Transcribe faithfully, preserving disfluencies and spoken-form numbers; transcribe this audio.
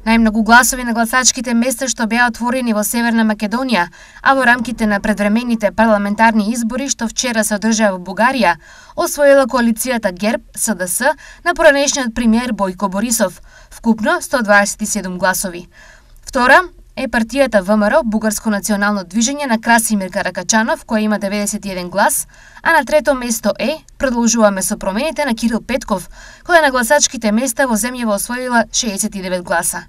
Најмногу гласови на гласачките места што беа отворени во Северна Македонија, а во рамките на предвремените парламентарни избори што вчера се одржаа во Бугарија, освоила коалицијата ГЕРБ С Д С на поранешниот премиер Бојко Борисов, вкупно сто дваесет и седум гласови. Втора е партијата В М Р, Бугарско национално движење на Красимир Каракачанов, која има деветдесет и еден глас, а на трето место е Продолжуваме со промените на Кирил Петков, која на гласачките места во земјава освоила шеесет и девет гласа.